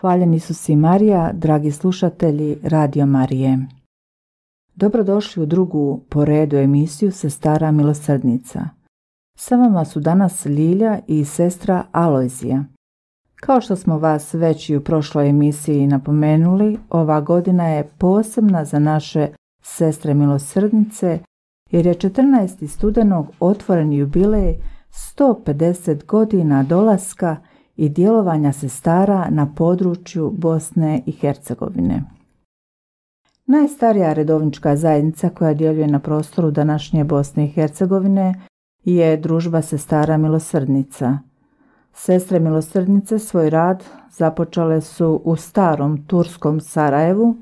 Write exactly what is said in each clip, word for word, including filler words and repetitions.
Hvaljen Isus i Marija, dragi slušatelji Radio Marije. Dobrodošli u drugu po redu emisiju Sestara milosrdnica. Sa vama su danas Ljilja i sestra Alojzija. Kao što smo vas već i u prošloj emisiji napomenuli, ova godina je posebna za naše sestre milosrdnice jer je četrnaestog studenog otvoren jubilej sto pedeset godina dolaska i djelovanja sestara na području Bosne i Hercegovine. Najstarija redovnička zajednica koja djeluje na prostoru današnje Bosne i Hercegovine je Družba sestara milosrdnica. Sestre milosrdnice svoj rad započele su u starom turskom Sarajevu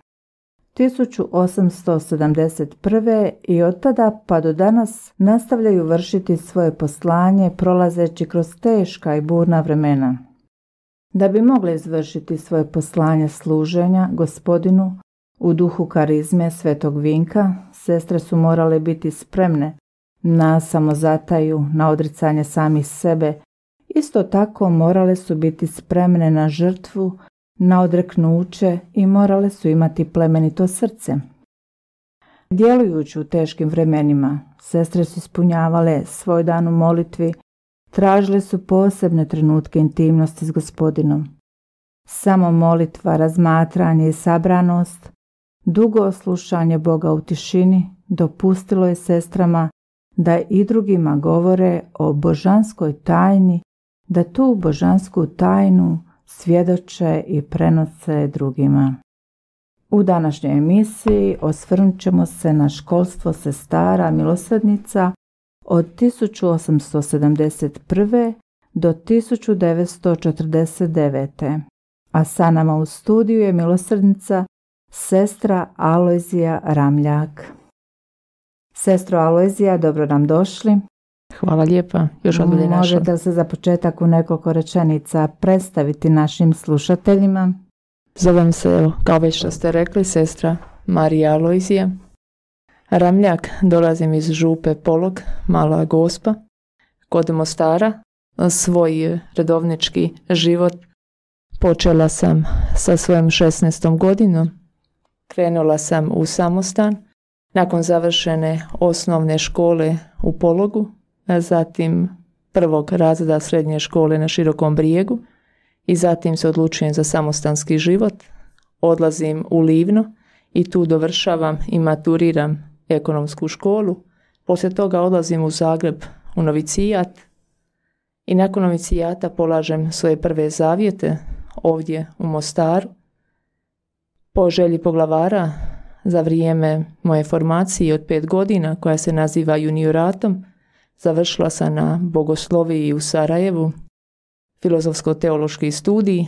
tisuću osamsto sedamdeset prve. i od tada pa do danas nastavljaju vršiti svoje poslanje prolazeći kroz teška i burna vremena. Da bi mogle izvršiti svoje poslanje služenja Gospodinu u duhu karizme Svetog Vinka, sestre su morale biti spremne na samozataju, na odricanje samih sebe. Isto tako morale su biti spremne na žrtvu, na odreknuće i morale su imati plemenito srce. Djelujući u teškim vremenima, sestre su ispunjavale svoj dan u molitvi, tražile su posebne trenutke intimnosti s Gospodinom. Samo molitva, razmatranje i sabranost, dugo slušanje Boga u tišini dopustilo je sestrama da i drugima govore o božanskoj tajni, da tu božansku tajnu svjedoče i prenose drugima. U današnjoj emisiji osvrnut ćemo se na školstvo sestara milosrdnica od tisuću osamsto sedamdeset prve. do tisuću devetsto četrdeset devete. A sa nama u studiju je milosrdnica sestra Alojzija Ramljak. Sestro Alojzija, dobro nam došli. Hvala lijepa, još odbolje našla. Možete li se za početak u nekoliko rečenica predstaviti našim slušateljima? Zovem se, evo, kao već što ste rekli, sestra Marija Alojzija Ramljak, dolazim iz župe Polog, Mala Gospa, kod Mostara. Svoj redovnički život počela sam sa svojom šesnaestom godinom. Krenula sam u samostan, nakon završene osnovne škole u Pologu, zatim prvog razreda srednje škole na Širokom Brijegu i zatim se odlučujem za samostanski život. Odlazim u Livno i tu dovršavam i maturiram ekonomsku školu. Poslije toga odlazim u Zagreb u novicijat i nakon novicijata polažem svoje prve zavjete ovdje u Mostaru. Po želji poglavara za vrijeme moje formacije od pet godina koja se naziva junioratom, završila sam na Bogosloviji u Sarajevu, filozofsko-teološki studij.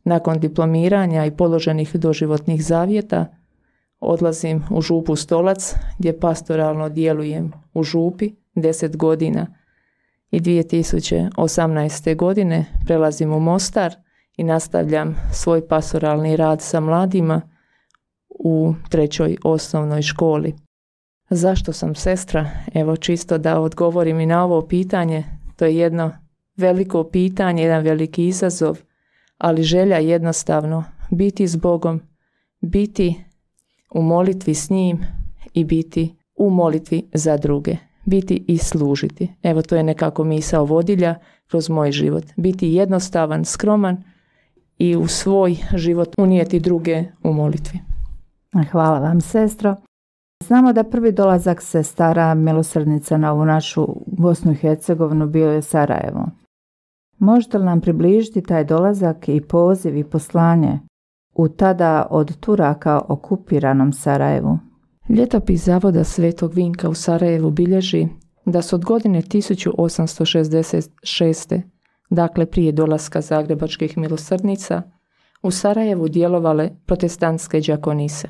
Nakon diplomiranja i položenih doživotnih zavjeta odlazim u župu Stolac gdje pastoralno djelujem u župi deset godina i dvije tisuće osamnaeste. godine prelazim u Mostar i nastavljam svoj pastoralni rad sa mladima u trećoj osnovnoj školi. Zašto sam sestra? Evo, čisto da odgovorim i na ovo pitanje. To je jedno veliko pitanje, jedan veliki izazov, ali želja jednostavno biti s Bogom, biti u molitvi s njim i biti u molitvi za druge, biti i služiti. Evo, to je nekako misao vodilja kroz moj život. Biti jednostavan, skroman i u svoj život unijeti druge u molitvi. Hvala vam, sestro. Znamo da prvi dolazak sestara milosrdnica na ovu našu Bosnu i Hercegovinu bio je Sarajevo. Možete li nam približiti taj dolazak i poziv i poslanje u tada od Turaka okupiranom Sarajevu? Ljetopis Zavoda Svetog Vinka u Sarajevu bilježi da su od godine tisuću osamsto šezdeset šeste. dakle prije dolaska zagrebačkih milosrdnica, u Sarajevu djelovale protestantske đakonise.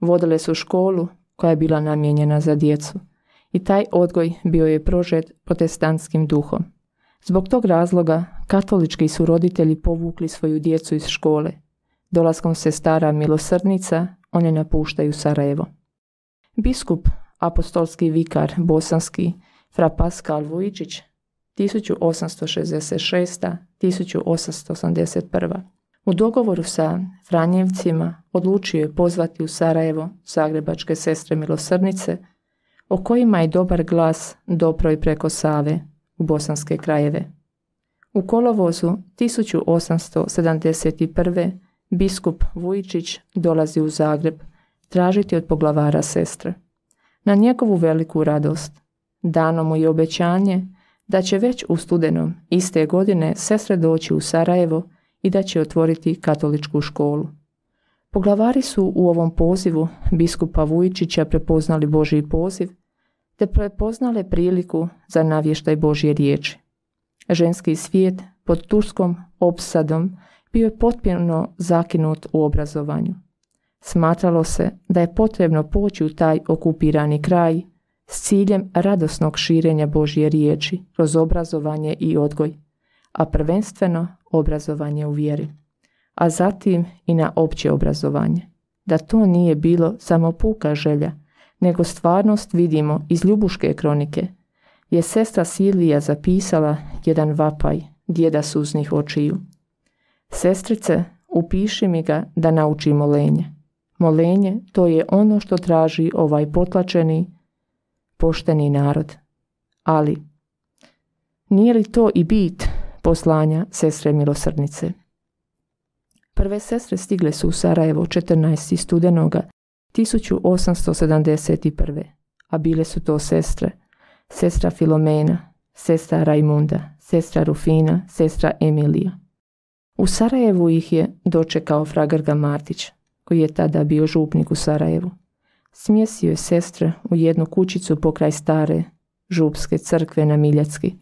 Vodile su školu koja je bila namijenjena za djecu i taj odgoj bio je prožet protestantskim duhom. Zbog tog razloga katolički su roditelji povukli svoju djecu iz škole. Dolaskom sestara milosrdnica one napuštaju Sarajevo. Biskup, apostolski vikar bosanski, fra Paskal Vujčić, tisuću osamsto šezdeset šeste. do tisuću osamsto osamdeset prve. U dogovoru sa Franjevcima odlučio je pozvati u Sarajevo zagrebačke sestre milosrdnice, o kojima je dobar glas dopro i preko Save u bosanske krajeve. U kolovozu tisuću osamsto sedamdeset prve. biskup Vujičić dolazi u Zagreb tražiti od poglavara sestre. Na njegovu veliku radost dano mu je obećanje da će već u studenom iste godine sestre doći u Sarajevo i da će otvoriti katoličku školu. Poglavari su u ovom pozivu biskupa Vujičića prepoznali Božji poziv, te prepoznale priliku za navještaj Božje riječi. Ženski svijet pod turskom opsadom bio je potpuno zakinut u obrazovanju. Smatralo se da je potrebno poći u taj okupirani kraj s ciljem radosnog širenja Božje riječi kroz obrazovanje i odgoj, a prvenstveno obrazovanje u vjeri, a zatim i na opće obrazovanje. Da to nije bilo samo puka želja, nego stvarnost vidimo iz Ljubuške kronike, je sestra Silvija zapisala jedan vapaj djeda suznih očiju. Sestrice, upiši mi ga da nauči molenje. Molenje, to je ono što traži ovaj potlačeni, pošteni narod. Ali, nije li to i bit poslanja sestre milosrdnice? Prve sestre stigle su u Sarajevo četrnaestog studenoga tisuću osamsto sedamdeset prve. A bile su to sestre: sestra Filomena, sestra Rajmunda, sestra Rufina, sestra Emilija. U Sarajevu ih je dočekao fra Grga Martić, koji je tada bio župnik u Sarajevu. Smjestio je sestre u jednu kućicu pokraj stare župske crkve na Miljacki.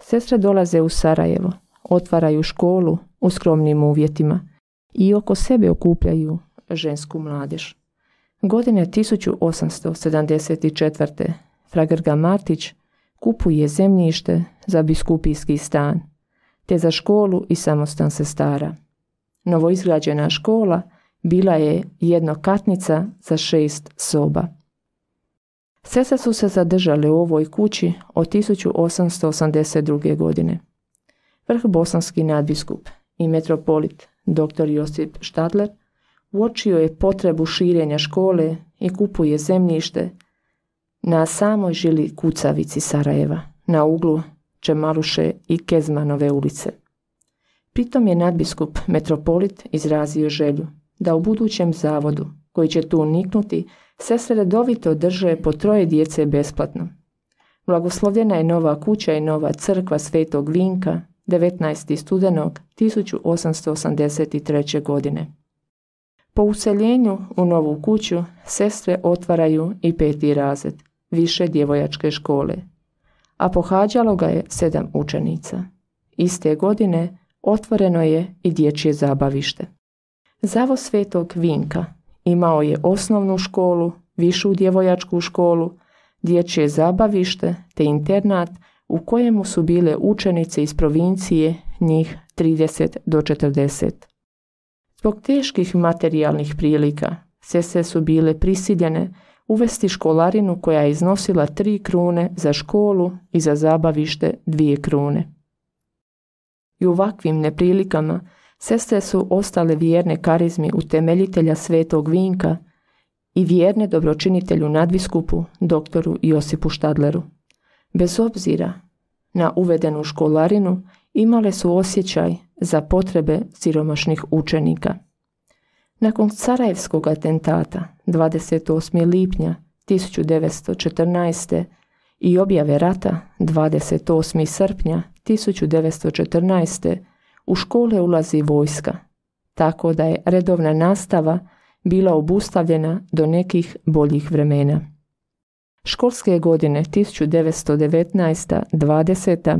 Sestre dolaze u Sarajevo, otvaraju školu u skromnim uvjetima i oko sebe okupljaju žensku mladež. Godine tisuću osamsto sedamdeset četvrte. fra Grga Martić kupuje zemljište za biskupijski stan, te za školu i samostan sestara. Novoizgrađena škola bila je jednokatnica za šest soba. Sestre su se zadržale u ovoj kući od tisuću osamsto osamdeset druge. godine. Vrhbosanski nadbiskup i metropolit dr. Josip Štadler uočio je potrebu širenja škole i kupuje zemljište na samoj žili kucavici Sarajeva, na uglu Čemaluše i Kezmanove ulice. Pritom je nadbiskup metropolit izrazio želju da u budućem zavodu, koji će tu niknuti, sestre redovito drže po troje djece besplatno. Blagoslovljena je nova kuća i nova crkva Svetog Vinka devetnaestog studenog tisuću osamsto osamdeset treće. godine. Po useljenju u novu kuću sestre otvaraju i peti razred više djevojačke škole, a pohađalo ga je sedam učenica. Iste godine otvoreno je i dječje zabavište. Zavod Svetog Vinka imao je osnovnu školu, višu djevojačku školu, dječje zabavište te internat u kojemu su bile učenice iz provincije, njih trideset do četrdeset. Zbog teških materijalnih prilika sestre su bile prisiljene uvesti školarinu koja je iznosila tri krune za školu i za zabavište dvije krune. I u ovakvim neprilikama sestre su ostale vjerne karizmi utemeljitelja Svetog Vinka i vjerne dobročinitelju nadbiskupu doktoru Josipu Štadleru. Bez obzira na uvedenu školarinu imale su osjećaj za potrebe siromašnih učenika. Nakon Sarajevskog atentata dvadeset osmog lipnja tisuću devetsto četrnaeste. i objave rata dvadeset osmog srpnja tisuću devetsto četrnaeste. u škole ulazi vojska, tako da je redovna nastava bila obustavljena do nekih boljih vremena. Školske godine tisuću devetsto devetnaeste. dvadeseta.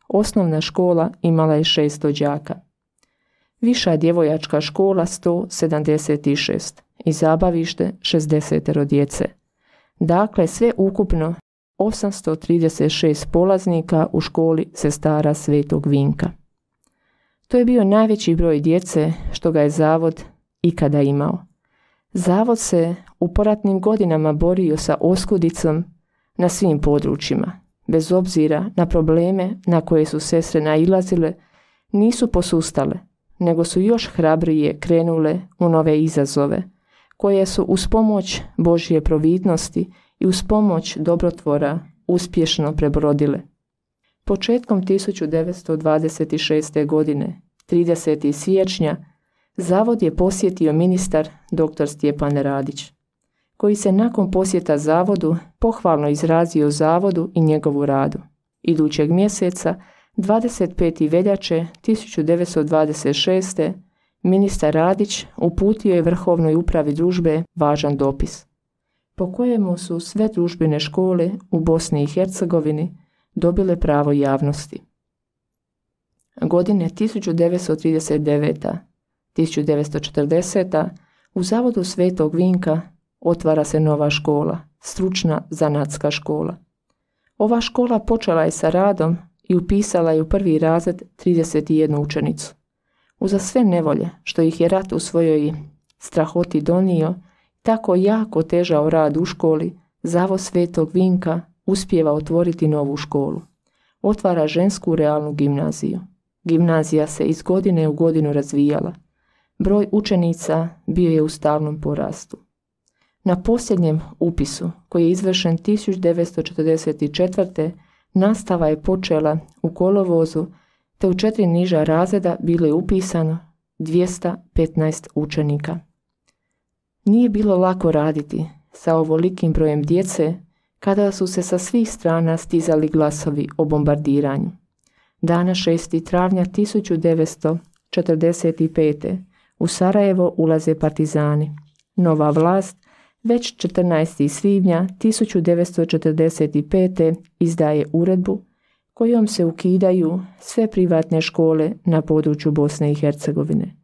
osnovna škola imala je šesto đaka. Viša djevojačka škola sto sedamdeset šest i zabavište šezdeset djece. Dakle, sve ukupno osamsto trideset šest polaznika u školi sestara Svetog Vinka. To je bio najveći broj djece što ga je zavod ikada imao. Zavod se u poratnim godinama borio sa oskudicom na svim područjima. Bez obzira na probleme na koje su sestre nailazile, nisu posustale, nego su još hrabrije krenule u nove izazove, koje su uz pomoć Božje providnosti i uz pomoć dobrotvora uspješno prebrodile. Početkom tisuću devetsto dvadeset šeste. godine, tridesetog siječnja, zavod je posjetio ministar doktor Stjepan Radić, koji se nakon posjeta zavodu pohvalno izrazio zavodu i njegovu radu. Idućeg mjeseca, dvadeset petog veljače tisuću devetsto dvadeset šeste. ministar Radić uputio je Vrhovnoj upravi družbe važan dopis, po kojemu su sve družbene škole u Bosni i Hercegovini dobile pravo javnosti. Godine tisuću devetsto trideset devete. do tisuću devetsto četrdesete. u zavodu Svetog Vinka otvara se nova škola, stručna zanatska škola. Ova škola počela je sa radom i upisala je u prvi razred trideset jednu učenicu. Uza sve nevolje što ih je rat u svojoj strahoti donio, tako jako težao rad u školi, zavod Svetog Vinka uspijeva otvoriti novu školu. Otvara žensku realnu gimnaziju. Gimnazija se iz godine u godinu razvijala. Broj učenica bio je u stalnom porastu. Na posljednjem upisu, koji je izvršen tisuću devetsto četrdeset četvrte. nastava je počela u kolovozu, te u četiri niža razreda bilo je upisano dvjesto petnaest učenika. Nije bilo lako raditi sa ovolikim brojem djece kada su se sa svih strana stizali glasovi o bombardiranju. Dana šestog travnja tisuću devetsto četrdeset pete. u Sarajevo ulaze partizani. Nova vlast već četrnaestog svibnja tisuću devetsto četrdeset pete. izdaje uredbu kojom se ukidaju sve privatne škole na području Bosne i Hercegovine.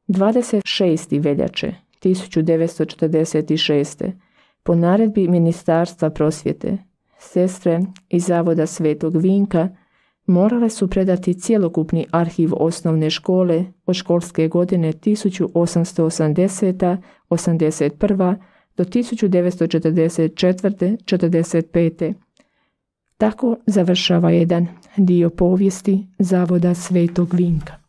dvadeset šestog veljače tisuću devetsto četrdeset šeste. po naredbi Ministarstva prosvjete, sestre iz zavoda Svetog Vinka morale su predati cjelokupni arhiv osnovne škole od školske godine tisuću osamsto osamdesete. osamdeset prve. do tisuću devetsto četrdeset četvrte. četrdeset pete. Tako završava jedan dio povijesti zavoda Svetog Vinka.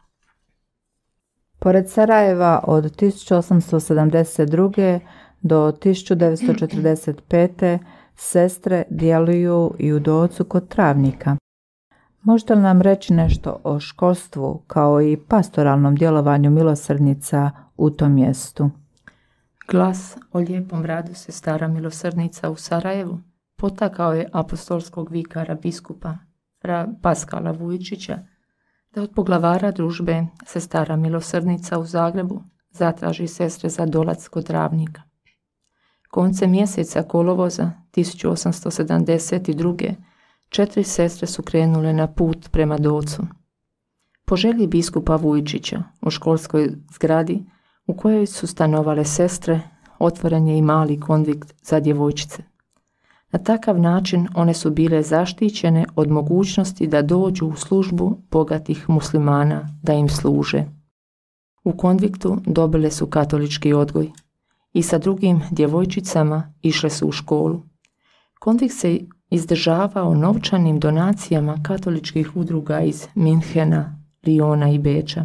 Pored Sarajeva od tisuću osamsto sedamdeset druge. do tisuću devetsto četrdeset pete. sestre djeluju i u Docu kod Travnika. Možete li nam reći nešto o školstvu kao i pastoralnom djelovanju milosrdnica u tom mjestu? Glas o lijepom radu sestara milosrdnica u Sarajevu potakao je apostolskog vikara biskupa fra Paskala Vujčića da od poglavara družbe sestara milosrdnica u Zagrebu zatraži sestre za dolac kod Travnika. Koncem mjeseca kolovoza tisuću osamsto sedamdeset druge. četiri sestre su krenule na put prema Docu. Po želji biskupa Vujčića u školskoj zgradi u kojoj su stanovale sestre otvoren je i mali konvikt za djevojčice. Na takav način one su bile zaštićene od mogućnosti da dođu u službu bogatih muslimana da im služe. U konviktu dobile su katolički odgoj i sa drugim djevojčicama išle su u školu. Konvikt se izdržavao novčanim donacijama katoličkih udruga iz Minhena, Liona i Beča,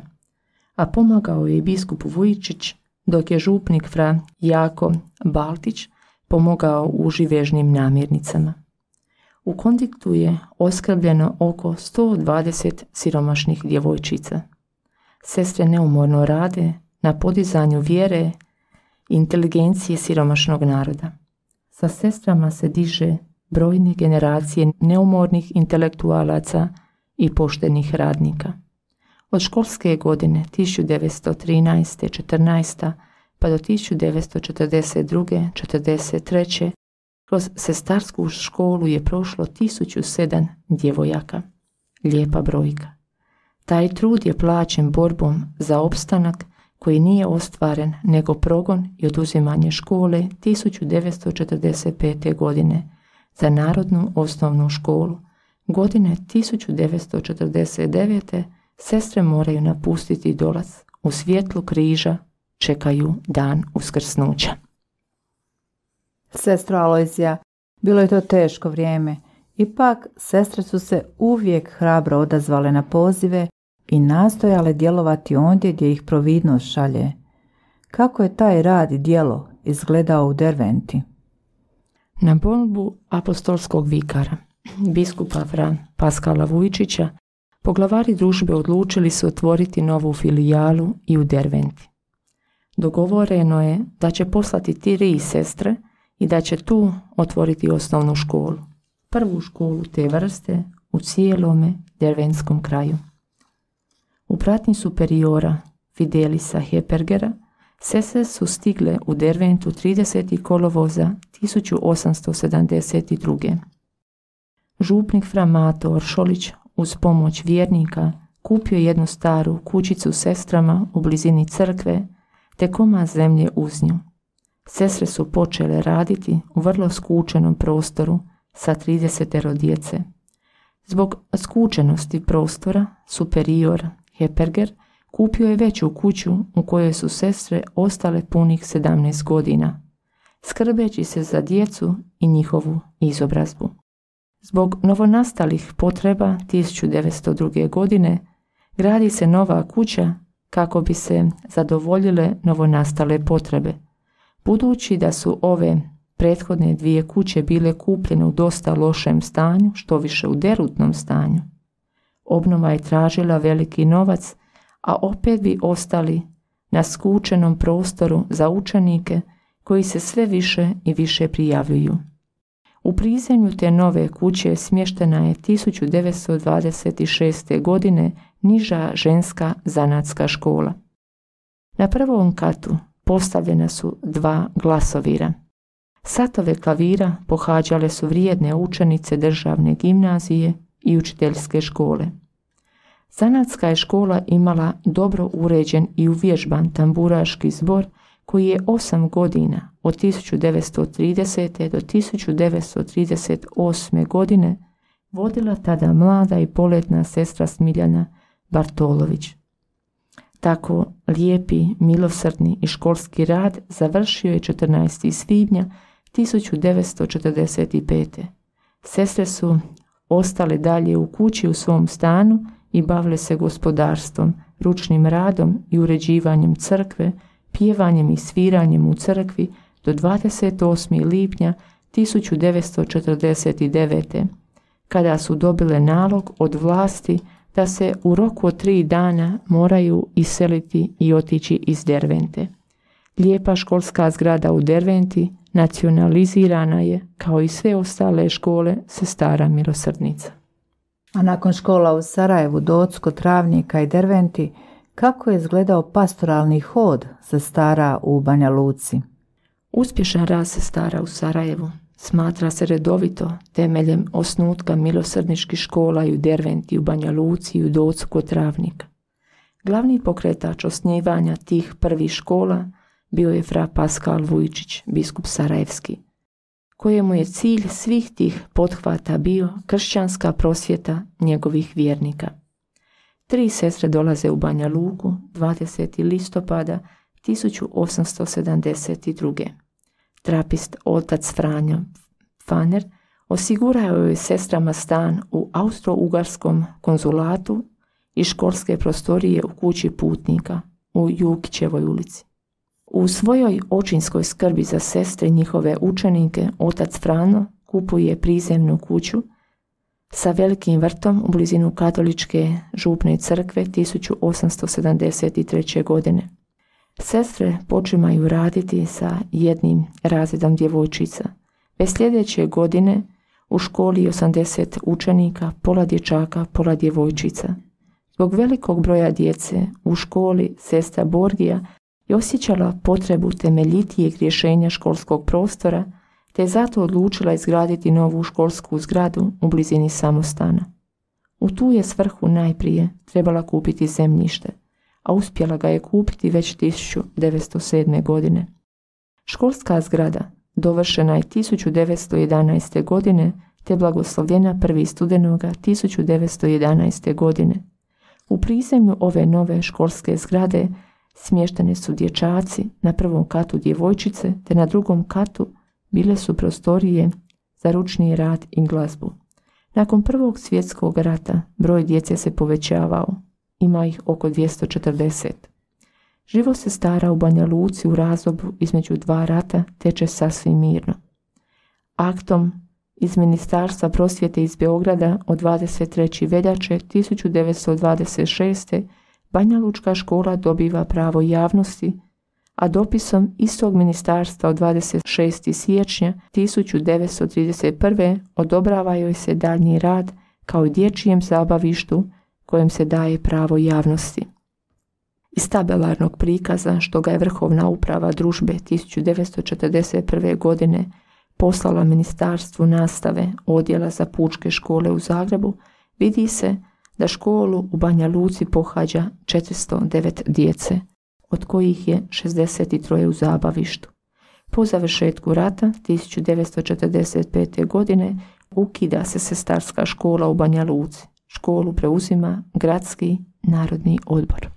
a pomagao je i biskup Vujčić, dok je župnik fra Jako Baltić pomogao u živežnim namirnicama. U konviktu je oskrbljeno oko sto dvadeset siromašnih djevojčica. Sestre neumorno rade na podizanju vjere i inteligencije siromašnog naroda. Sa sestrama se diže brojne generacije neumornih intelektualaca i poštenih radnika. Od školske godine tisuću devetsto trinaeste. četrnaeste. pa do tisuću devetsto četrdeset druge. četrdeset treće. kroz sestarsku školu je prošlo tisuću sedam djevojaka. Lijepa brojka. Taj trud je plaćen borbom za opstanak koji nije ostvaren nego progon i oduzimanje škole tisuću devetsto četrdeset pete. godine za Narodnu osnovnu školu. Godine tisuću devetsto četrdeset devete. sestre moraju napustiti Dolac. U svjetlu križa čekaju dan uskrsnuća. Sestro Alojzija, bilo je to teško vrijeme. Ipak, sestre su se uvijek hrabro odazvale na pozive i nastojale djelovati ondje gdje ih providnost šalje. Kako je taj rad i djelo izgledao u Derventi? Na molbu apostolskog vikara, biskupa Fra Paskala Vujčića, poglavari družbe odlučili su otvoriti novu filijalu i u Derventi. Dogovoreno je da će poslati tri sestre i da će tu otvoriti osnovnu školu. Prvu školu te vrste u cijelome derventskom kraju. U pratnji superiora Fidelisa Hepergera sestre su stigle u Derventu tridesetog kolovoza tisuću osamsto sedamdeset druge. Župnik Fra Mato Oršolić uz pomoć vjernika kupio jednu staru kućicu sestrama u blizini crkve te komad zemlje uz nju. Sestre su počele raditi u vrlo skučenom prostoru sa tridesetero djece. Zbog skučenosti prostora, superior Heperger kupio je veću kuću u kojoj su sestre ostale punih sedamnaest godina, skrbeći se za djecu i njihovu izobrazbu. Zbog novonastalih potreba tisuću devetsto druge. godine gradi se nova kuća kako bi se zadovoljile novonastale potrebe. Budući da su ove prethodne dvije kuće bile kupljene u dosta lošem stanju, što više u derutnom stanju, obnova je tražila veliki novac, a opet bi ostali na skučenom prostoru za učenike koji se sve više i više prijavljuju. U prizemlju te nove kuće smještena je tisuću devetsto dvadeset šeste. godine niža ženska zanatska škola. Na prvom katu postavljena su dva glasovira. Satove klavira pohađale su vrijedne učenice državne gimnazije i učiteljske škole. Zanatska je škola imala dobro uređen i uvježban tamburaški zbor koji je osam godina od tisuću devetsto tridesete. do tisuću devetsto trideset osme. godine vodila tada mlada i poletna sestra Smiljana Bartolović. Tako lijepi, milosrdni i školski rad završio je četrnaestog svibnja tisuću devetsto četrdeset pete. Sestre su ostale dalje u kući u svom stanu i bavile se gospodarstvom, ručnim radom i uređivanjem crkve, pjevanjem i sviranjem u crkvi do dvadeset osmog lipnja tisuću devetsto četrdeset devete. kada su dobile nalog od vlasti da se u roku od tri dana moraju iseliti i otići iz Dervente. Lijepa školska zgrada u Derventi nacionalizirana je, kao i sve ostale škole, Sestara milosrdnica. A nakon škola u Sarajevu, Docko, Travnika i Derventi, kako je izgledao pastoralni hod sestara u Banja Luci? Uspješan rad sestara u Sarajevu smatra se redovito temeljem osnutka milosrdničkih škola i u Derventi, u Banja Luci i u Docku, Travnika. Glavni pokretač osnivanja tih prvih škola bio je fra Paskal Vujčić, biskup sarajevski, kojemu je cilj svih tih pothvata bio kršćanska prosvjeta njegovih vjernika. Tri sestre dolaze u Banja Luku dvadesetog listopada tisuću osamsto sedamdeset druge. Trapist otac Franjo Faner osigurao je sestrama stan u Austro-Ugarskom konzulatu i školske prostorije u kući putnika u Jukićevoj ulici. U svojoj očinskoj skrbi za sestre i njihove učenike otac Frano kupuje prizemnu kuću sa velikim vrtom u blizinu katoličke župne crkve tisuću osamsto sedamdeset treće. godine. Sestre počimaju raditi sa jednim razredom djevojčica. Već sljedeće godine u školi osamdeset učenika, pola dječaka, pola djevojčica. Zbog velikog broja djece u školi sestra Borgija je osjećala potrebu temeljitijeg rješenja školskog prostora, te je zato odlučila izgraditi novu školsku zgradu u blizini samostana. U tu je svrhu najprije trebala kupiti zemljište, a uspjela ga je kupiti već tisuću devetsto sedme. godine. Školska zgrada dovršena je tisuću devetsto jedanaeste. godine te blagoslovljena prvog studenoga tisuću devetsto jedanaeste. godine. U prizemlju ove nove školske zgrade smještene su dječaci, na prvom katu djevojčice, te na drugom katu bile su prostorije za ručni rad i glazbu. Nakon Prvog svjetskog rata broj djece se povećavao ima ih oko dvjesto četrdeset. Život sestara u Banja Luci u razdoblju između dva rata teče sasvim mirno. Aktom iz Ministarstva prosvjete iz Beograda od dvadeset treće veljače tisuću devetsto dvadeset šeste. Banja Lučka škola dobiva pravo javnosti, a dopisom istog ministarstva od dvadeset šestog siječnja tisuću devetsto trideset prve. odobrava joj se daljnji rad kao i dječjem zabavištu kojem se daje pravo javnosti. Iz tabelarnog prikaza što ga je Vrhovna uprava družbe tisuću devetsto četrdeset prve. godine poslala Ministarstvu nastave Odjela za pučke škole u Zagrebu, vidi se da školu u Banja Luci pohađa četiristo devet djece, od kojih je šezdeset tri u zabavištu. Po završetku rata tisuću devetsto četrdeset pete. godine ukida se sestarska škola u Banja Luci. Školu preuzima Gradski narodni odbor.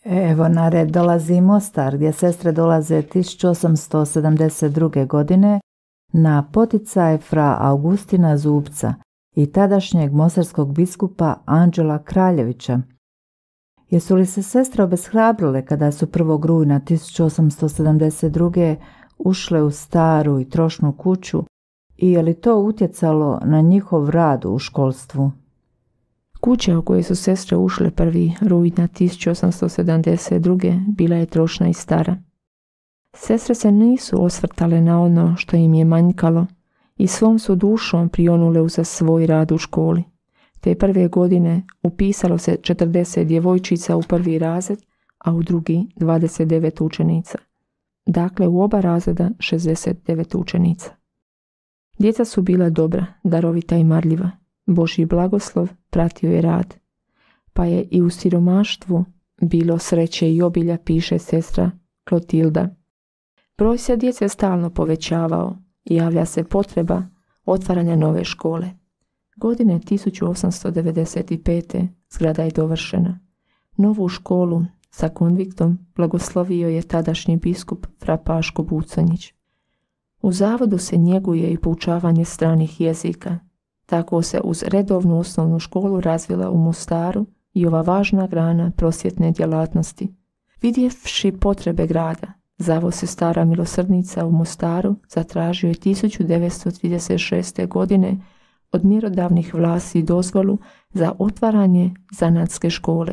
Evo na red dolazi Mostar, gdje sestre dolaze tisuću osamsto sedamdeset druge. godine na poticaj fra Augustina Zubca i tadašnjeg mostarskog biskupa Anđela Kraljevića. Jesu li se sestre obeshrabrile kada su prvog rujna tisuću osamsto sedamdeset druge. ušle u staru i trošnu kuću i je li to utjecalo na njihov rad u školstvu? Kuća u kojoj su sestre ušle prvi rujna tisuću osamsto sedamdeset druge. bila je trošna i stara. Sestre se nisu osvrtale na ono što im je manjkalo i svom su dušom prionule uza svoj rad u školi. Te prve godine upisalo se četrdeset djevojčica u prvi razred, a u drugi dvadeset devet učenica. dakle u oba razreda šezdeset devet učenica. Djeca su bila dobra, darovita i marljiva. Božji blagoslov pratio je rad. Pa je i u siromaštvu bilo sreće i obilja, piše sestra Klotilda. Broj se djece stalno povećavao i javlja se potreba otvaranja nove škole. Godine tisuću osamsto devedeset pete. zgrada je dovršena. Novu školu sa konviktom blagoslovio je tadašnji biskup fra Paško Buconjić. U zavodu se njeguje i poučavanje stranih jezika. Tako se uz redovnu osnovnu školu razvila u Mostaru i ova važna grana prosvjetne djelatnosti. Vidjevši potrebe grada, Zavod Sestara milosrdnica u Mostaru zatražio je tisuću devetsto trideset šeste. godine od mjerodavnih vlasti dozvolu za otvaranje zanatske škole.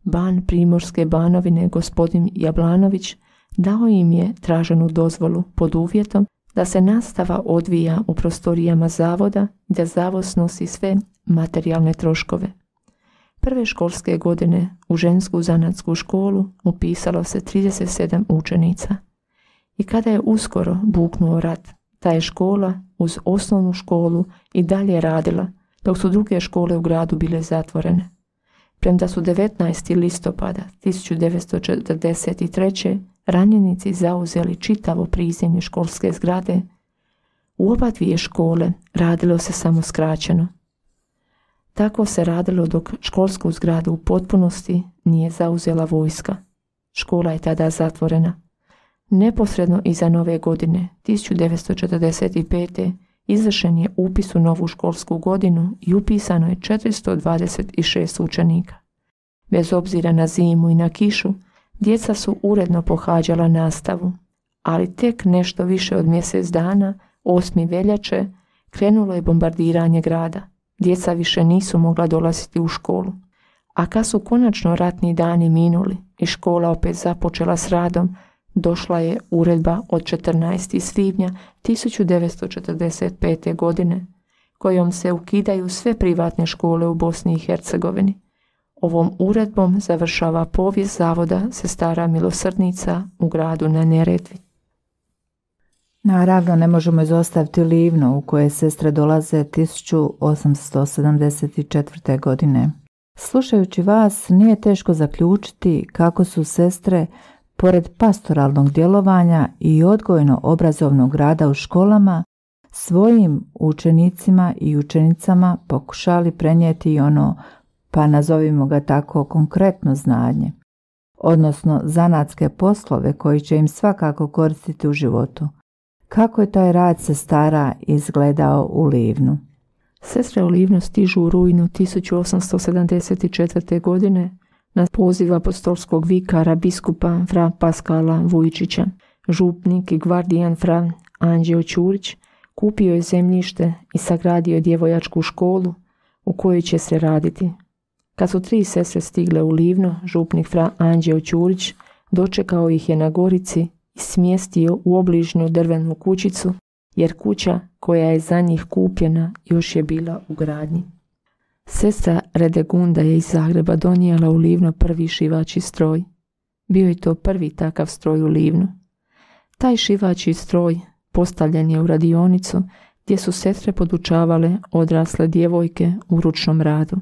Ban Primorske Banovine, gospodin Jablanović, dao im je traženu dozvolu pod uvjetom da se nastava odvija u prostorijama zavoda i da zavod snosi sve materijalne troškove. Prve školske godine u žensku zanatsku školu upisalo se trideset sedam učenica. I kada je uskoro buknuo rat, ta je škola uz osnovnu školu i dalje radila, dok su druge škole u gradu bile zatvorene. Premda su devetnaestog listopada tisuću devetsto četrdeset treće. ranjenici zauzeli čitavo prizemlje školske zgrade, u oba dvije škole radilo se samo skraćeno. Tako se radilo dok školsku zgradu u potpunosti nije zauzela vojska. Škola je tada zatvorena. Neposredno iza nove godine, tisuću devetsto četrdeset pete. izvršen je upis u novu školsku godinu i upisano je četiristo dvadeset šest učenika. Bez obzira na zimu i na kišu, djeca su uredno pohađala nastavu, ali tek nešto više od mjesec dana, osmog veljače, krenulo je bombardiranje grada. Djeca više nisu mogla dolaziti u školu. A kad su konačno ratni dani minuli i škola opet započela s radom, došla je uredba od četrnaestog svibnja tisuću devetsto četrdeset pete. godine, kojom se ukidaju sve privatne škole u Bosni i Hercegovini. Ovom uredbom završava povijest zavoda Sestara milosrdnica u gradu na Neretvi. Naravno, ne možemo izostaviti Livno, u koje sestre dolaze tisuću osamsto sedamdeset četvrte. godine. Slušajući vas, nije teško zaključiti kako su sestre, pored pastoralnog djelovanja i odgojno-obrazovnog rada u školama, svojim učenicima i učenicama pokušali prenijeti i ono, pa nazovimo ga tako, konkretno znanje, odnosno zanatske poslove koji će im svakako koristiti u životu. Kako je taj rad sestara izgledao u Livnu? Sestre u Livnu stižu u rujnu tisuću osamsto sedamdeset četvrte. godine na poziv apostolskog vikara biskupa fra Paskala Vujčića. Župnik i gvardijan fra Anđeo Ćurić kupio je zemljište i sagradio djevojačku školu u kojoj će se raditi. Kad su tri sestre stigle u Livno, župnik fra Anđeo Ćurić dočekao ih je na Gorici i smjestio u obližnju drvenu kućicu, jer kuća koja je za njih kupljena još je bila u gradnji. Sestra Redegunda je iz Zagreba donijela u Livno prvi šivači stroj. Bio je to prvi takav stroj u Livnu. Taj šivači stroj postavljen je u radionicu gdje su sestre podučavale odrasle djevojke u ručnom radu.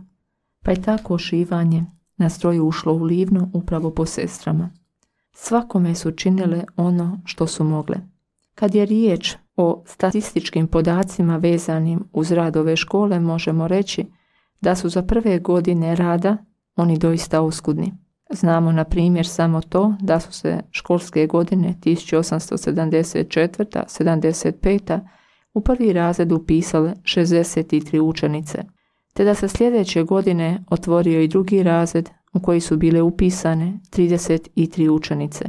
Pa je tako šivanje na stroju ušlo u Livno upravo po sestrama. Svakome su činile ono što su mogle. Kad je riječ o statističkim podacima vezanim uz rad ove škole, možemo reći da su za prve godine rada oni doista oskudni. Znamo na primjer samo to da su se školske godine tisuću osamsto sedamdeset četvrte. sedamdeset pete. u prvi razred upisale šezdeset tri učenice, te da se sljedeće godine otvorio i drugi razred u koji su bile upisane trideset tri učenice.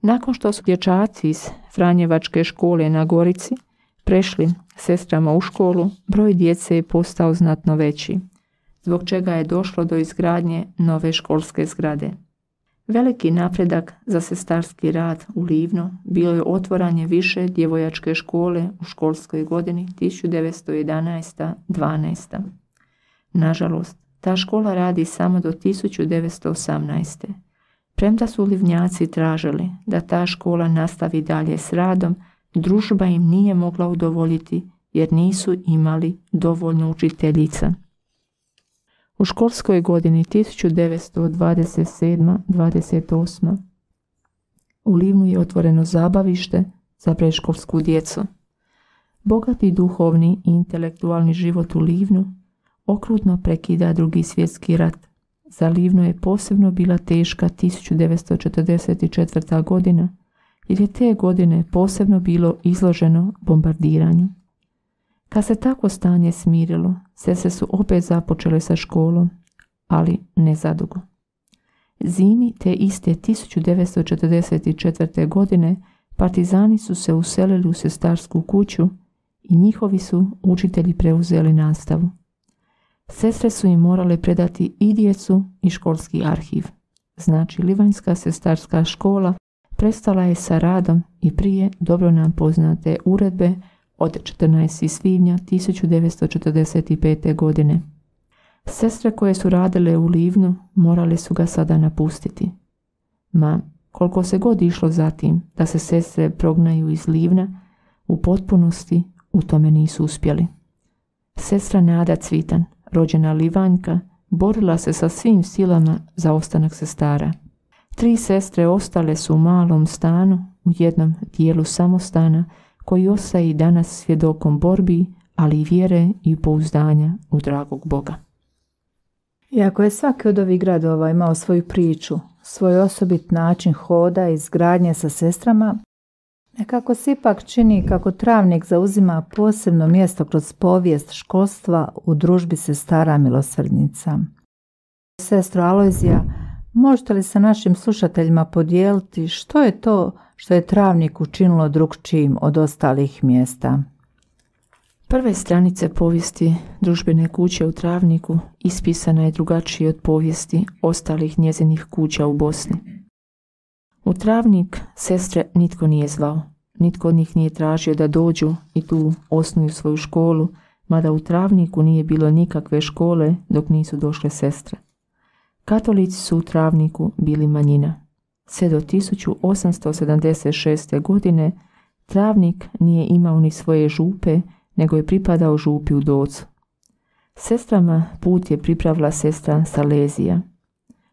Nakon što su dječaci iz Franjevačke škole na Gorici prešli sestrama u školu, broj djece je postao znatno veći, zbog čega je došlo do izgradnje nove školske zgrade. Veliki napredak za sestarski rad u Livno bilo je otvaranje više djevojačke škole u školskoj godini tisuću devetsto jedanaeste dvanaeste. Nažalost, ta škola radi samo do tisuću devetsto osamnaeste. Premda su Livnjaci tražili da ta škola nastavi dalje s radom, družba im nije mogla udovoljiti jer nisu imali dovoljno učiteljica. U školskoj godini tisuću devetsto dvadeset sedma dvadeset osma u Livnu je otvoreno zabavište za predškolsku djecu. Bogati duhovni i intelektualni život u Livnu okrutno prekida Drugi svjetski rat. Za Livno je posebno bila teška tisuću devetsto četrdeset četvrta godina, jer je te godine posebno bilo izloženo bombardiranju. Kad se tako stanje smirilo, sestre su opet započele sa školom, ali ne zadugo. Zimi te iste tisuću devetsto četrdeset četvrte godine partizani su se uselili u sestarsku kuću i njihovi su učitelji preuzeli nastavu. Sestre su im morale predati i djecu i školski arhiv. Znači, Livanjska sestarska škola prestala je sa radom i prije dobro nam poznate uredbe od četrnaestog svibnja tisuću devetsto četrdeset pete. godine. Sestre koje su radile u Livnu morale su ga sada napustiti. Ma, koliko se god išlo za tim da se sestre prognaju iz Livna, u potpunosti u tome nisu uspjeli. Sestra Nada Cvitan, rođena Livanjka, borila se sa svim silama za ostanak sestara. Tri sestre ostale su u malom stanu, u jednom dijelu samostana, koji ostaje i danas svjedokom borbi, ali i vjere i pouzdanja u dragog Boga. Iako je svaki od ovih gradova imao svoju priču, svoj osobit način hoda i izgradnje sa sestrama, nekako se ipak čini kako Travnik zauzima posebno mjesto kroz povijest školstva u družbi sestara milosrdnica. Sestro Alojzija, možete li sa našim slušateljima podijeliti što je to što je Travnik učinilo drukčijim od ostalih mjesta? Prve stranice povijesti družbene kuće u Travniku ispisana je drugačije od povijesti ostalih njezinih kuća u Bosni. U Travnik sestre nitko nije zvao, nitko od njih nije tražio da dođu i tu osnuju svoju školu, mada u Travniku nije bilo nikakve škole dok nisu došle sestre. Katolici su u Travniku bili manjina. Sve do tisuću osamsto sedamdeset šeste. godine Travnik nije imao ni svoje župe, nego je pripadao župi u Docu. Sestrama put je pripravila sestra Salezija,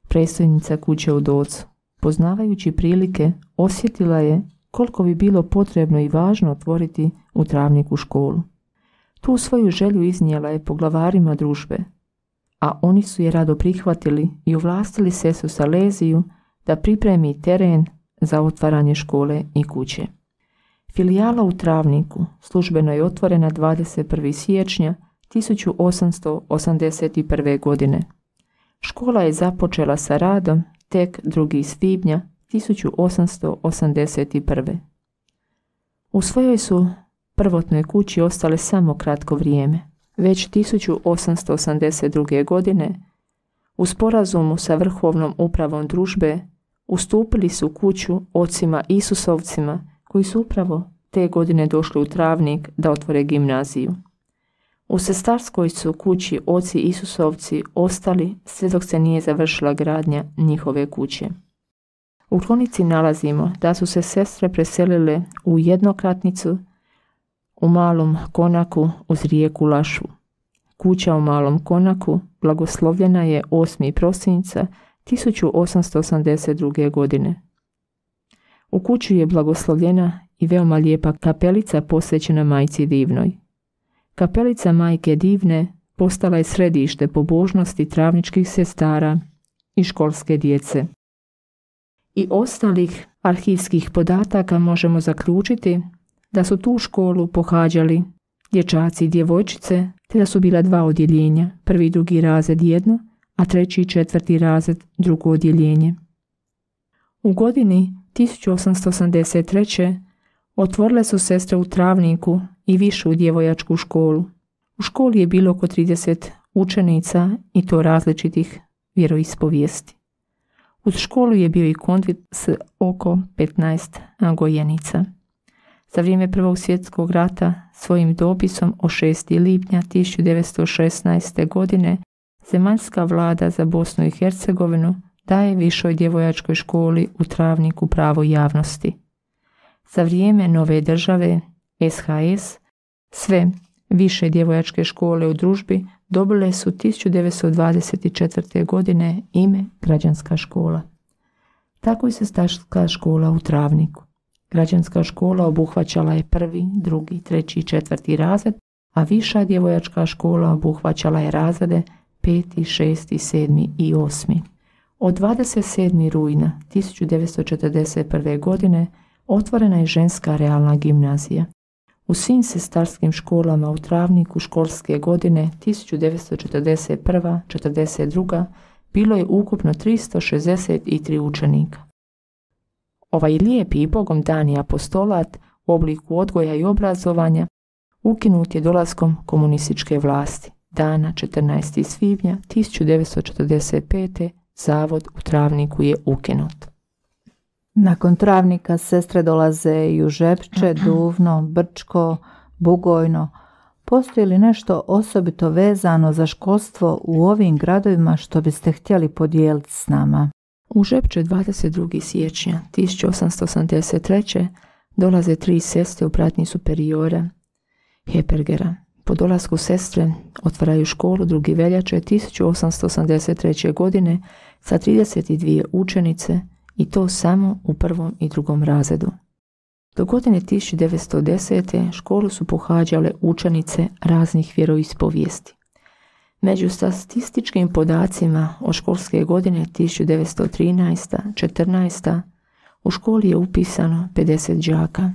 predstojnica kuće u Docu. Poznavajući prilike, osjetila je koliko bi bilo potrebno i važno otvoriti u Travniku školu. Tu svoju želju iznijela je poglavarima družbe, a oni su je rado prihvatili i ovlastili sestru Saleziju da pripremi teren za otvaranje škole i kuće. Filijala u Travniku službeno je otvorena dvadeset prvog siječnja tisuću osamsto osamdeset prve. godine. Škola je započela sa radom tek drugog svibnja tisuću osamsto osamdeset prve. U svojoj su prvotnoj kući ostale samo kratko vrijeme. Već tisuću osamsto osamdeset druge. godine u sporazumu sa vrhovnom upravom družbe ustupili su kuću ocima Isusovcima koji su upravo te godine došli u Travnik da otvore gimnaziju. U sestarskoj su kući oci Isusovci ostali sve dok se nije završila gradnja njihove kuće. U kronici nalazimo da su se sestre preselile u jednokratnicu u Malom Konaku uz rijeku Lašu. Kuća u Malom Konaku blagoslovljena je osmog prosinca tisuću osamsto osamdeset druge. godine. U kući je blagoslovljena i veoma lijepa kapelica posvećena Majci Divnoj. Kapelica Majke Divne postala je središte pobožnosti travničkih sestara i školske djece. I ostalih arhivskih podataka možemo zaključiti da su tu školu pohađali dječaci i djevojčice, te da su bila dva odjeljenja, prvi i drugi razred jedno, a treći i četvrti razred drugo odjeljenje. U godini tisuću osamsto osamdeset treće. otvorile su sestre u Travniku i višu djevojačku školu. U školi je bilo oko trideset učenica i to različitih vjeroispovijesti. Uz školu je bio i konvent s oko petnaest gojenica. Za vrijeme Prvog svjetskog rata svojim dopisom od šestog lipnja tisuću devetsto šesnaeste. godine zemaljska vlada za Bosnu i Hercegovinu daje Višoj djevojačkoj školi u Travniku pravo javnosti. Za vrijeme nove države S H S sve više djevojačke škole u družbi dobile su tisuću devetsto dvadeset četvrte. godine ime Građanska škola. Tako je sestarska škola u Travniku. Građanska škola obuhvaćala je prvi, drugi, treći i četvrti razred, a Viša djevojačka škola obuhvaćala je razrede peti, šesti, sedmi i osmi. Od dvadeset sedmog rujna tisuću devetsto četrdeset prve. godine otvorena je ženska realna gimnazija. U svim sestarskim školama u Travniku školske godine tisuću devetsto četrdeset prve. četrdeset druge. bilo je ukupno tristo šezdeset tri učenika. Ovaj lijepi i Bogom dani apostolat u obliku odgoja i obrazovanja ukinut je dolaskom komunističke vlasti. Dana četrnaestog svibnja tisuću devetsto četrdeset pete. zavod u Travniku je ukinut. Nakon Travnika sestre dolaze i u Žepče, Duvno, Brčko, Bugojno. Postoji li nešto osobito vezano za školstvo u ovim gradovima što biste htjeli podijeliti s nama? U Žepče dvadeset drugog siječnja tisuću osamsto osamdeset treće. dolaze tri sestre u pratnji superiora Hepergera. Po dolasku sestre otvaraju školu druge veljače tisuću osamsto osamdeset treće. godine sa trideset dvije učenice i to samo u prvom i drugom razredu. Do godine tisuću devetsto desete. školu su pohađale učenice raznih vjeroispovijesti. Među statističkim podacima od školske godine tisuću devetsto trinaeste. četrnaeste. u školi je upisano pedeset đaka.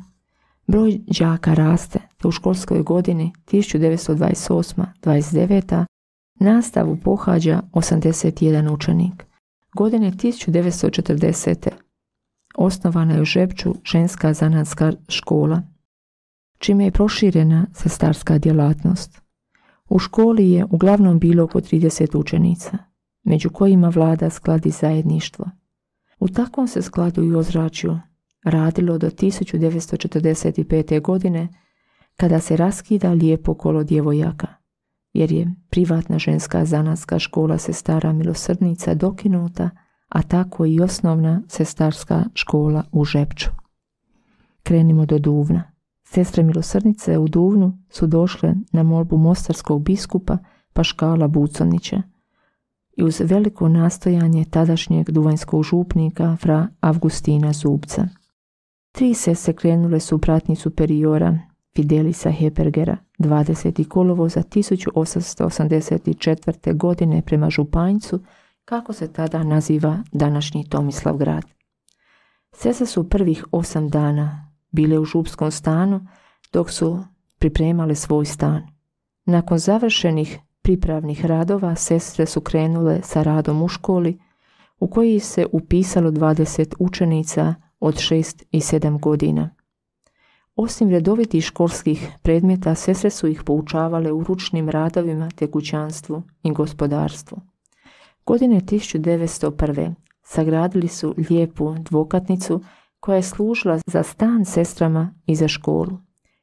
Broj đaka raste, te u školskoj godini tisuću devetsto dvadeset osme. dvadeset devete. nastavu pohađa osamdeset jedan učenik. Godine tisuću devetsto četrdesete. osnovana je u Žepču ženska zanatska škola, čime je proširena sestarska djelatnost. U školi je uglavnom bilo oko trideset učenica, među kojima vlada sklad i zajedništvo. U takvom se skladu i ozračju radilo do tisuću devetsto četrdeset pete. godine, kada se raskida lijepo kolo djevojaka, jer je privatna ženska zanatska škola sestara milosrdnica dokinuta, a tako i osnovna sestarska škola u Žepču. Krenimo do Duvna. Sestre milosrdnice u Duvnu su došle na molbu mostarskog biskupa Paškala Buconića i uz veliko nastojanje tadašnjeg duvanjskog župnika fra Avgustina Zubca. Tri sestre krenule su u pratnji superiora Fidelisa Hepergera dvadesetog kolovoza tisuću osamsto osamdeset četvrte. godine prema Županjcu, kako se tada naziva današnji Tomislavgrad. Sestre su prvih osam dana bile u župskom stanu dok su pripremale svoj stan. Nakon završenih pripravnih radova sestre su krenule sa radom u školi u koji se upisalo dvadeset učenica od šest i sedam godina. Osim redovitih školskih predmeta, sestre su ih poučavale u ručnim radovima te kućanstvu i gospodarstvu. Godine tisuću devetsto prve. sagradili su lijepu dvokatnicu koja je služila za stan sestrama i za školu.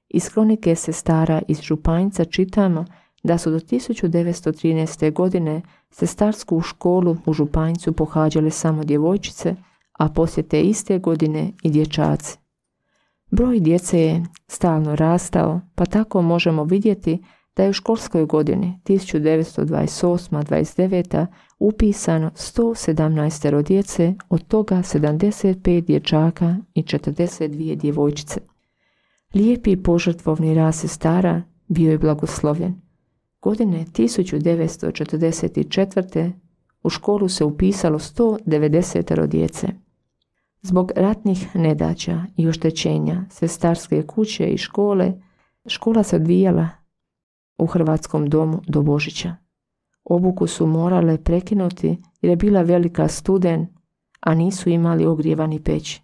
Iz kronike sestara iz Županjca čitamo da su do tisuću devetsto trinaeste. godine sestarsku školu u Županjcu pohađale samo djevojčice, a poslije te iste godine i dječaci. Broj djece je stalno rastao, pa tako možemo vidjeti da je u školskoj godini tisuću devetsto dvadeset osme. dvadeset devete. upisano sto sedamnaest djece, od toga sedamdeset pet dječaka i četrdeset dvije djevojčice. Lijepi i požrtvovni rad sestara bio je blagoslovljen. Godine tisuću devetsto četrdeset četvrte. u školu se upisalo sto devedeset djece. Zbog ratnih nedaća i oštećenja sestarske kuće i škole, škola se odvijala u Hrvatskom domu do Božića. Obuku su morale prekinuti jer je bila velika studen, a nisu imali ogrijevani peć.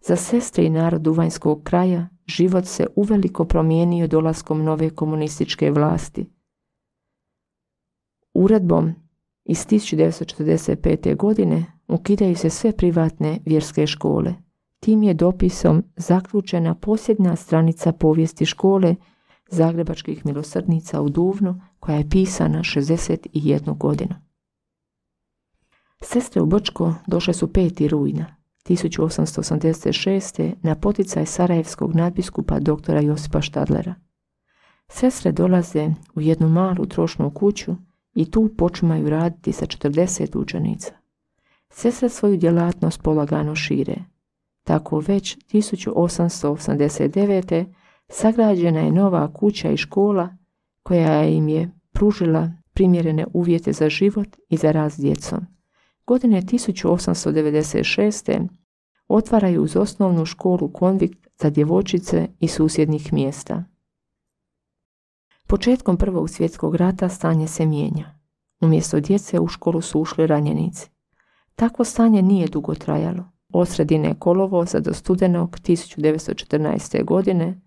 Za sestre i narod Duvanjskog kraja život se uveliko promijenio dolaskom nove komunističke vlasti. Uredbom iz tisuću devetsto četrdeset pete. godine ukidaju se sve privatne vjerske škole. Tim je dopisom zaključena posljednja stranica povijesti škole Zagrebačkih milosrdnica u Duvnu, koja je pisana šezdeset jednu godinu. Sestre u Brčko došle su peti rujna tisuću osamsto osamdeset šeste. na poticaj sarajevskog nadbiskupa doktora Josipa Štadlera. Sestre dolaze u jednu malu trošnu kuću i tu počimaju raditi sa četrdeset učenica. Sestre svoju djelatnost polagano šire. Tako već tisuću osamsto osamdeset devete. sagrađena je nova kuća i škola koja im je pružila primjerene uvjete za život i za rad s djecom. Godine tisuću osamsto devedeset šeste. otvaraju uz osnovnu školu konvikt za djevojčice iz susjednih mjesta. Početkom Prvog svjetskog rata stanje se mijenja. Umjesto djece u školu su ušli ranjenici. Takvo stanje nije dugo trajalo. Od sredine kolovoza do studenog tisuću devetsto četrnaeste. godine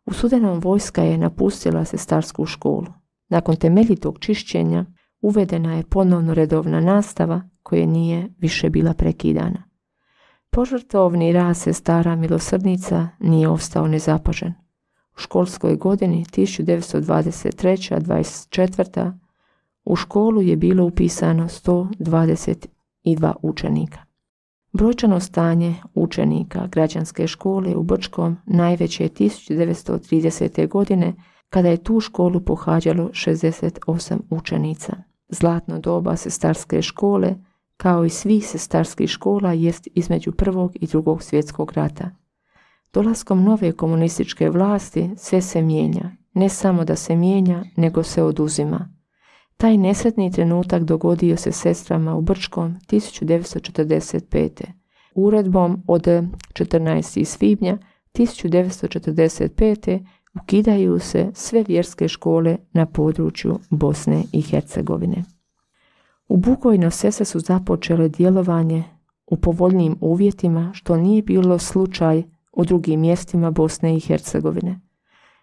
u studenom vojska je napustila sestarsku školu. Nakon temeljitog čišćenja uvedena je ponovno redovna nastava koja nije više bila prekidana. Požrtvovni rad sestara milosrdnica nije ostao nezapažen. U školskoj godini tisuću devetsto dvadeset treće. dvadeset četvrte. u školu je bilo upisano sto dvadeset dva učenika. Brojčano stanje učenika građanske škole u Brčkom najveće je tisuću devetsto tridesete. godine kada je tu školu pohađalo šezdeset osam učenica. Zlatno doba sestarske škole, kao i svih sestarskih škola, jest između Prvog i Drugog svjetskog rata. Dolaskom nove komunističke vlasti sve se mijenja. Ne samo da se mijenja, nego se oduzima. Taj nesretni trenutak dogodio se sestrama u Brčkom tisuću devetsto četrdeset pete. Uredbom od četrnaestog svibnja tisuću devetsto četrdeset pete. ukidaju se sve vjerske škole na području Bosne i Hercegovine. U Bugojnu sestre su započele djelovanje u povoljnijim uvjetima, što nije bilo slučaj u drugim mjestima Bosne i Hercegovine.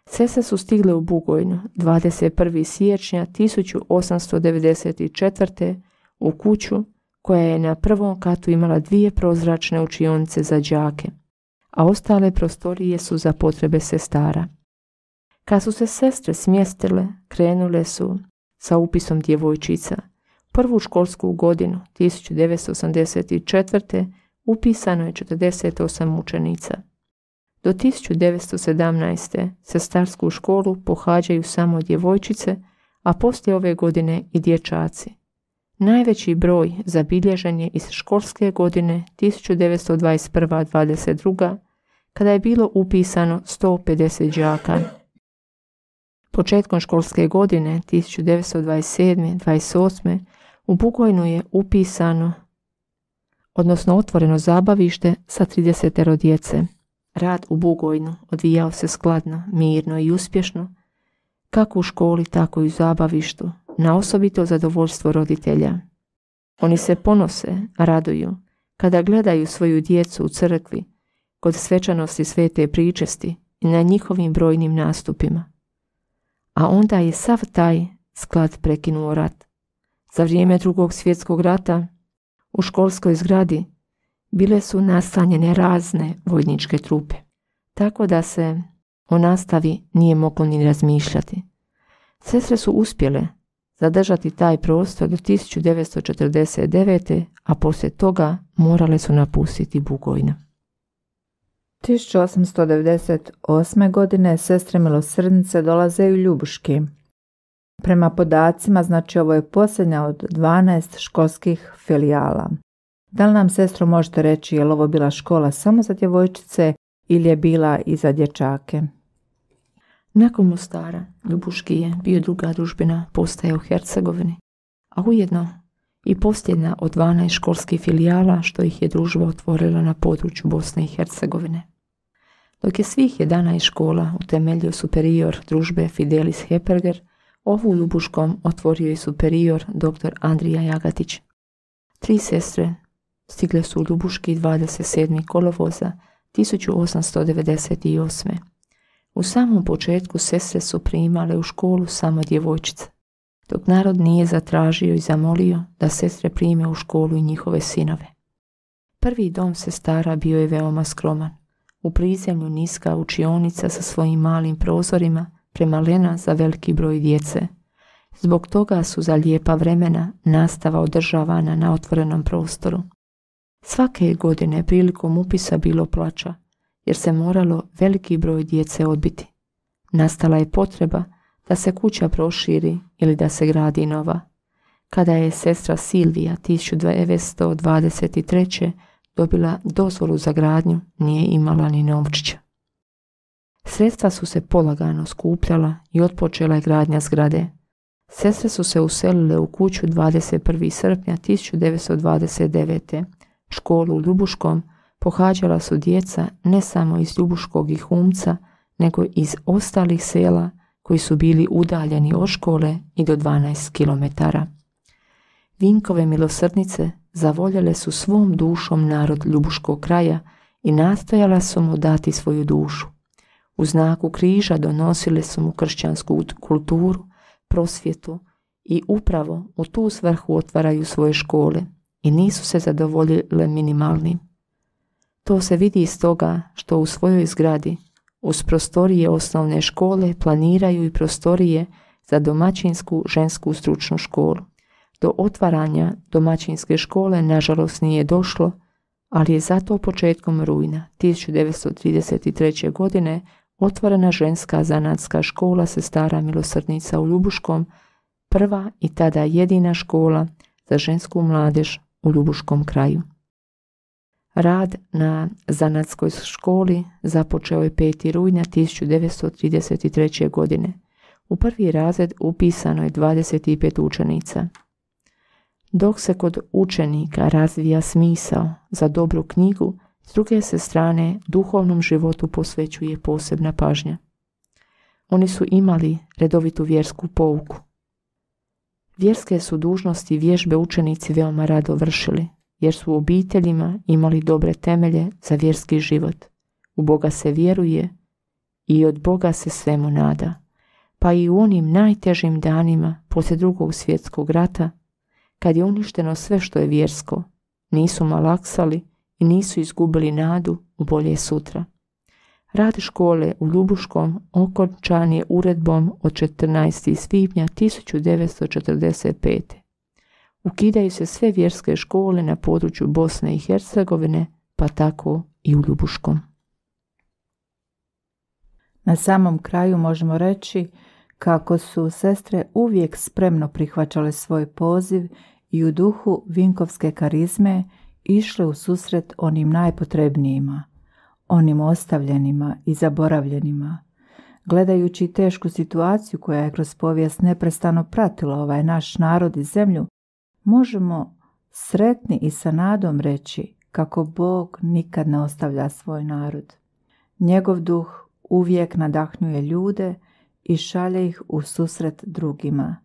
Sestre su stigle u Bugojnu dvadeset prvog siječnja tisuću osamsto devedeset četvrte. u kuću koja je na prvom katu imala dvije prozračne učionice za đake, a ostale prostorije su za potrebe sestara. Kad su se sestre smjestile, krenule su sa upisom djevojčica. Prvu školsku godinu tisuću devetsto osamdeset četvrte. upisano je četrdeset osam učenica. Do tisuću devetsto sedamnaeste. sestarsku školu pohađaju samo djevojčice, a poslije ove godine i dječaci. Najveći broj zabilježen je iz školske godine tisuću devetsto dvadeset prve dvadeset druge. kada je bilo upisano sto pedeset đaka. Početkom školske godine tisuću devetsto dvadeset sedme dvadeset osme. u Bugojnu je upisano, odnosno otvoreno zabavište sa trideset djece. Rad u Bugojnu odvijao se skladno, mirno i uspješno, kako u školi, tako i u zabavištu, na osobito zadovoljstvo roditelja. Oni se ponose, raduju, kada gledaju svoju djecu u crkvi, kod svečanosti svete pričesti i na njihovim brojnim nastupima. A onda je sav taj sklad prekinuo rat. Za vrijeme Drugog svjetskog rata u školskoj zgradi bile su nastanjene razne vojničke trupe, tako da se o nastavi nije moglo ni razmišljati. Sestre su uspjele zadržati taj prostor do tisuću devetsto četrdeset devete. a poslije toga morale su napustiti Bugojnu. tisuću osamsto devedeset osme. godine sestre milosrdnice dolaze u Ljubuški. Prema podacima, znači ovo je posljednja od dvanaest školskih filijala. Da li nam, sestro, možete reći je li ovo bila škola samo za djevojčice ili je bila i za dječake? Nakon Mostara, Ljubuški je bio druga družbena postaja u Hercegovini, a ujedno i posljednja od dvanaest školskih filijala što ih je družba otvorila na području Bosne i Hercegovine. Dok je svih jedanaest škola utemeljio superior družbe Fidelis Heperger, ovu u Ljubuškom otvorio je superior dr. Andrija Jagatić. Tri sestre stigle su u Ljubuški dvadeset sedmog kolovoza tisuću osamsto devedeset osme. U samom početku sestre su primale u školu samo djevojčice, dok narod nije zatražio i zamolio da sestre prime u školu i njihove sinove. Prvi dom sestara bio je veoma skroman. U prizemlju niska učionica sa svojim malim prozorima, premalena za veliki broj djece. Zbog toga su za lijepa vremena nastava održavana na otvorenom prostoru. Svake godine prilikom upisa bilo plača, jer se moralo veliki broj djece odbiti. Nastala je potreba da se kuća proširi ili da se gradi nova. Kada je sestra Silvija tisuću devetsto dvadeset treće dobila dozvolu za gradnju, nije imala ni novčića. Sredstva su se polagano skupljala i otpočela je gradnja zgrade. Sestre su se uselile u kuću dvadeset prvog srpnja tisuću devetsto dvadeset devete. Školu u Ljubuškom pohađala su djeca ne samo iz Ljubuškog i Humca, nego iz ostalih sela koji su bili udaljeni od škole i do dvanaest kilometara. Vinkove milosrdnice zavoljele su svom dušom narod Ljubuškog kraja i nastojala su mu dati svoju dušu. U znaku križa donosile su mu kršćansku kulturu, prosvjetu i upravo u tu svrhu otvaraju svoje škole i nisu se zadovoljile minimalnim. To se vidi iz toga što u svojoj zgradi uz prostorije osnovne škole planiraju i prostorije za domaćinsku žensku stručnu školu. Do otvaranja domaćinske škole nažalost nije došlo, ali je zato početkom rujna tisuću devetsto trideset treće. godine otvorena ženska zanatska škola sestara milosrdnica u Ljubuškom, prva i tada jedina škola za žensku mladež u Ljubuškom kraju. Rad na zanatskoj školi započeo je petog rujna tisuću devetsto trideset treće. godine. U prvi razred upisano je dvadeset pet učenica. Dok se kod učenika razvija smisao za dobru knjigu, s druge se strane duhovnom životu posvećuje posebna pažnja. Oni su imali redovitu vjersku pouku. Vjerske su dužnosti i vježbe učenici veoma rado vršili, jer su u obiteljima imali dobre temelje za vjerski život. U Boga se vjeruje i od Boga se svemu nada. Pa i u onim najtežim danima poslije drugog svjetskog rata, kad je uništeno sve što je vjersko, nisu malaksali i nisu izgubili nadu u bolje sutra. Rad škole u Ljubuškom okončan je uredbom od četrnaestog svibnja tisuću devetsto četrdeset pete. Ukidaju se sve vjerske škole na području Bosne i Hercegovine, pa tako i u Ljubuškom. Na samom kraju možemo reći kako su sestre uvijek spremno prihvaćale svoj poziv i u duhu vinkovske karizme išle u susret onim najpotrebnijima, onim ostavljenima i zaboravljenima. Gledajući tešku situaciju koja je kroz povijest neprestano pratila ovaj naš narod i zemlju, možemo sretni i sa nadom reći kako Bog nikad ne ostavlja svoj narod. Njegov duh uvijek nadahnjuje ljude i šalje ih u susret drugima.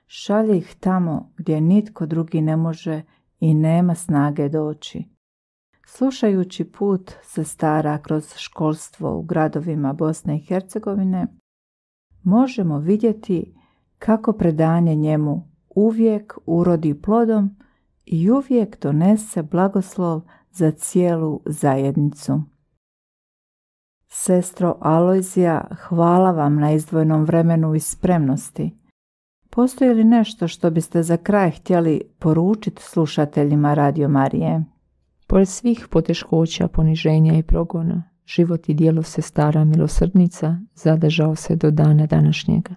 Šalje ih tamo gdje nitko drugi ne može i nema snage doći. Slušajući put sestara kroz školstvo u gradovima Bosne i Hercegovine, možemo vidjeti kako predanje njemu uvijek urodi plodom i uvijek donese blagoslov za cijelu zajednicu. Sestro Alojzija, hvala vam na izdvojenom vremenu i spremnosti. Postoji li nešto što biste za kraj htjeli poručiti slušateljima Radio Marije? Pored svih poteškoća, poniženja i progona, život i djelo sestara milosrdnica zadržao se do dana današnjega.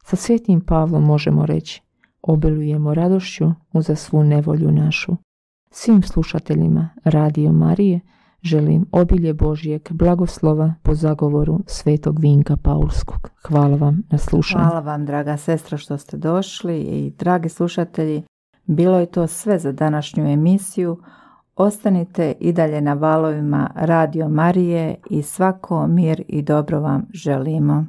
Sa svetim Pavlom možemo reći: obilujemo radošću uza svu nevolju našu. Svim slušateljima Radio Marije želim obilje Božjeg blagoslova po zagovoru svetog Vinka Paulskog. Hvala vam na slušanju. Hvala vam, draga sestra, što ste došli i dragi slušatelji, bilo je to sve za današnju emisiju. Ostanite i dalje na valovima Radio Marije i svako mir i dobro vam želimo.